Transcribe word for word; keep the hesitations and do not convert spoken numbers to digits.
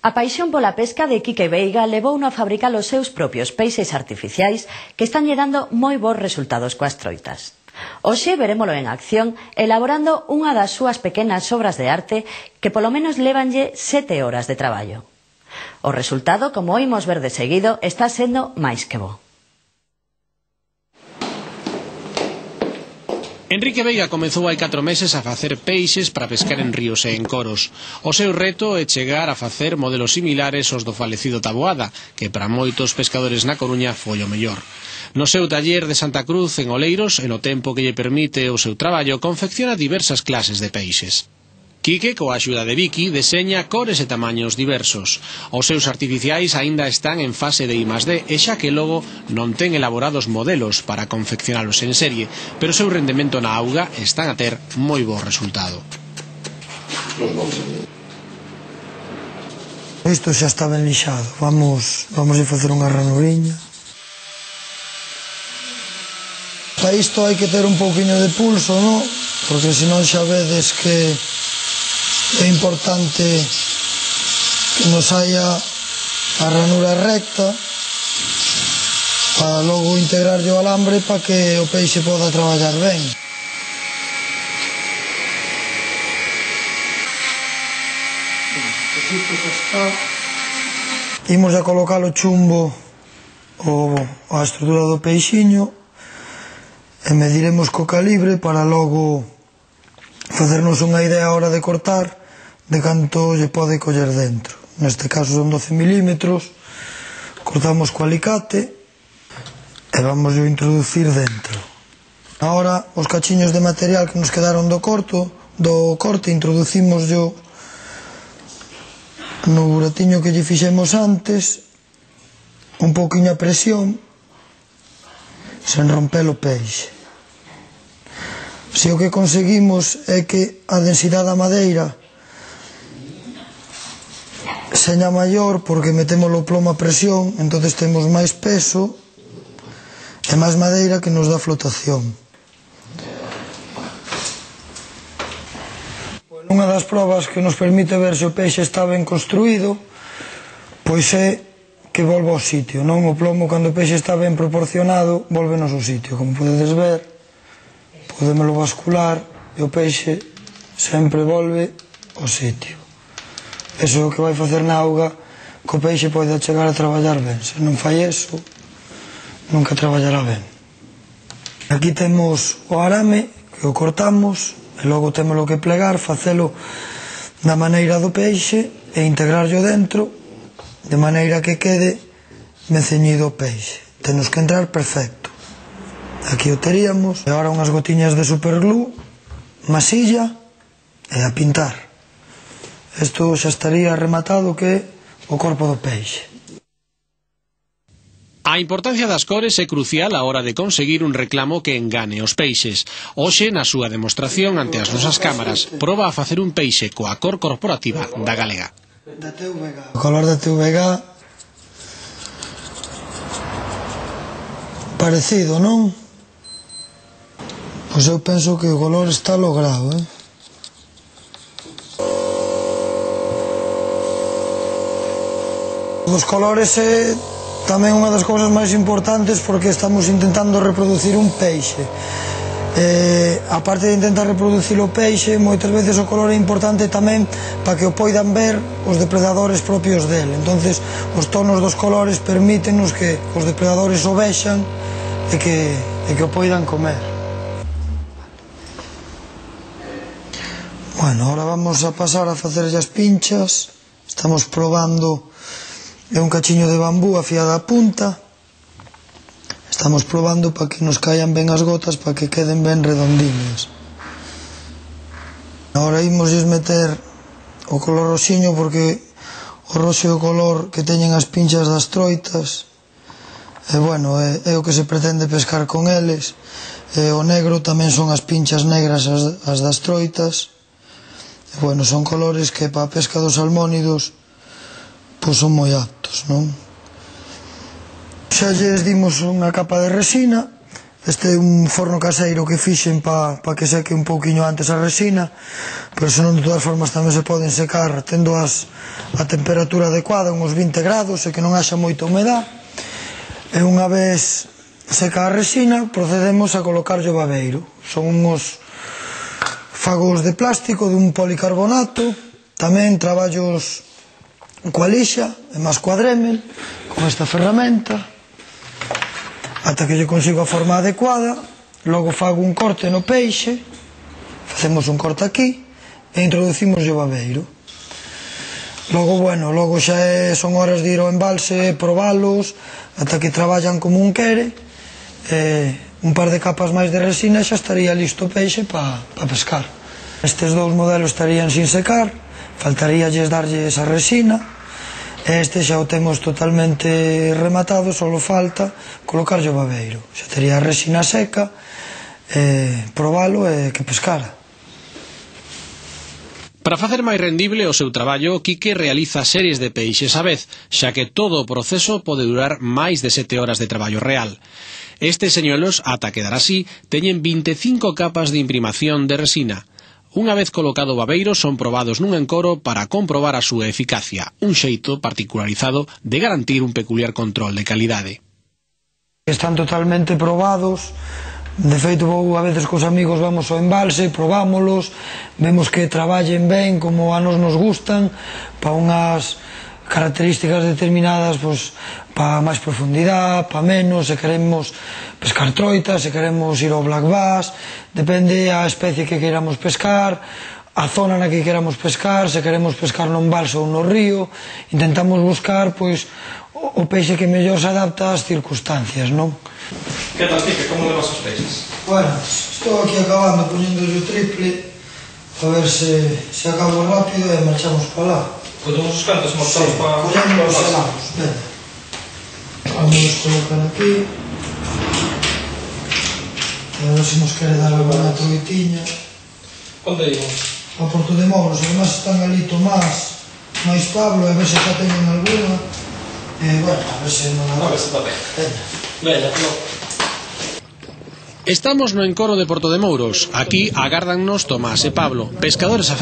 A paixón pola pesca de Quique Veiga levouno a fabricar os seus propios peixes artificiais que están lle dando moi bons resultados coas troitas. Hoxe verémolo en acción elaborando unha das súas pequenas obras de arte que polo menos lévanlle sete horas de traballo. O resultado, como oímos ver de seguido, está sendo máis que bo. Enrique Veiga comezou hai catro meses a facer peixes para pescar en ríos e en coros. O seu reto é chegar a facer modelos similares aos do falecido Taboada, que para moitos pescadores na Coruña foi o mellor. No seu taller de Santa Cruz, en Oleiros, e no tempo que lle permite o seu traballo, confecciona diversas clases de peixes. Quique, coa axuda de Vicky, deseña cores e tamaños diversos. Os seus artificiais aínda están en fase de I más D e xa que logo non ten elaborados modelos para confeccionalos en serie, pero o seu rendemento na auga están a ter moi bo resultado. Isto xa está ben lixado. Vamos, vamos a facer unha ranuriña. Para isto hai que ter un pouquiño de pulso, non? Porque senón xa vedes que é importante que nos saia a ranura recta para logo integrar o alambre para que o peixe poda traballar ben. Imos a colocar o chumbo o, a estrutura do peixiño e mediremos co calibre para logo facernos unha idea a hora de cortar de canto lle pode coller dentro. Neste caso son doce milímetros, cortamos co alicate e vamos a introducir dentro. Ahora os cachiños de material que nos quedaron do corto, do corte, introducimos yo no buratiño que lle fixemos antes, un pouquiño a presión, sen romper o peixe. Se o que conseguimos é que a densidade da madeira seña maior porque metemos o plomo a presión, entonces temos máis peso e máis madeira que nos dá flotación. Unha das probas que nos permite ver se o peixe está ben construído pois é que volva ao sitio, non? O plomo, cando o peixe está ben proporcionado, volve ao seu sitio. Como podedes ver, podémoslo bascular e o peixe sempre volve ao sitio. Eso é o que vai facer na auga que o peixe poida chegar a traballar ben. Se non fai eso, nunca traballará ben. Aquí temos o arame que o cortamos e logo temos que plegar, facelo da maneira do peixe e integrarlo dentro de maneira que quede ben ceñido o peixe. Tenos que entrar perfecto. Aquí o teríamos, e agora unhas gotiñas de superglue, masilla e a pintar. Isto xa estaría rematado que é o corpo do peixe. A importancia das cores é crucial a hora de conseguir un reclamo que engane os peixes. Hoxe, na súa demostración ante as nosas cámaras, proba a facer un peixe coa cor corporativa da galega. O color da T V G parecido, non? Pois eu penso que o color está logrado, eh? Os colores é tamén unha das cousas máis importantes porque estamos intentando reproducir un peixe. Eh, a parte de intentar reproducir o peixe, moitas veces o color é importante tamén para que o poidan ver os depredadores propios dele. Entonces, os tonos dos colores permítenos que os depredadores o vexan e que, e que o poidan comer. Bueno, ahora vamos a pasar a facer as pinchas. Estamos probando é un cachiño de bambú afiado a punta. Estamos probando para que nos caian ben as gotas, para que queden ben redondiñas. Agora imos meter o color roxiño porque o roxo é o color que teñen as pinchas das troitas. E bueno, é, é o que se pretende pescar con eles. E o negro tamén son as pinchas negras as, as das troitas. E bueno, son colores que para a pesca dos salmónidos pois son moi aptos, non? Xa lles dimos unha capa de resina Este é un forno caseiro que fixen para pa que seque un pouquiño antes a resina, pero senón de todas formas tamén se poden secar tendo as, a temperatura adecuada, uns vinte grados, e que non haxa moita humedad. E unha vez seca a resina, procedemos a colocar o babeiro. Son uns fagos de plástico dun policarbonato, tamén traballos coa lixa e máis coa Dremel, con esta ferramenta, ata que lle consigo a forma adecuada. Logo fago un corte no peixe, facemos un corte aquí e introducimos o babeiro. Logo, bueno, logo xa é, son horas de ir ao embalse, probalos, ata que traballan como un quere, e un par de capas máis de resina xa estaría listo o peixe para pa pescar. Estes dous modelos estarían sin secar, faltaríalles darlle esa resina. Este xa o temos totalmente rematado, só falta colocar o babeiro. Xa tería a resina seca, eh, probalo e que pescara. Para facer máis rendible o seu traballo, Quique realiza series de peixes á vez, xa que todo o proceso pode durar máis de sete horas de traballo real. Estes señuelos, ata quedar así, teñen vinte e cinco capas de imprimación de resina. Unha vez colocado o babeiro, son probados nun encoro para comprobar a súa eficacia, un xeito particularizado de garantir un peculiar control de calidade. Están totalmente probados, de feito vou a veces cos amigos, vamos ao embalse, probámolos, vemos que traballen ben como a nos nos gustan, para unhas características determinadas, pois, para máis profundidade, para menos, se queremos pescar troitas, se queremos ir ao black bass, depende a especie que queiramos pescar, a zona na que queiramos pescar, se queremos pescar nun balso ou no río, intentamos buscar, pois, o peixe que mellor se adapta ás circunstancias, non? Que tal, Quique? Como levas os peixes? Bueno, estou aquí acabando, poñendo o triple, a ver se, se acabo rápido e marchamos para lá. Collemos os cantos, marchamos para... Collemos os selamos, venga. Vamos a colocar aquí. A ver se nos quere dar alguna troitiña. Onde íbamos? A Porto de Mouros, además están ali Tomás, máis Pablo, a ver se xa teñen alguna. E, bueno, a ver se non A ver se está ben. Venga, no. Estamos no encoro de Porto de Mouros. Aquí agárdannos Tomás e Pablo, pescadores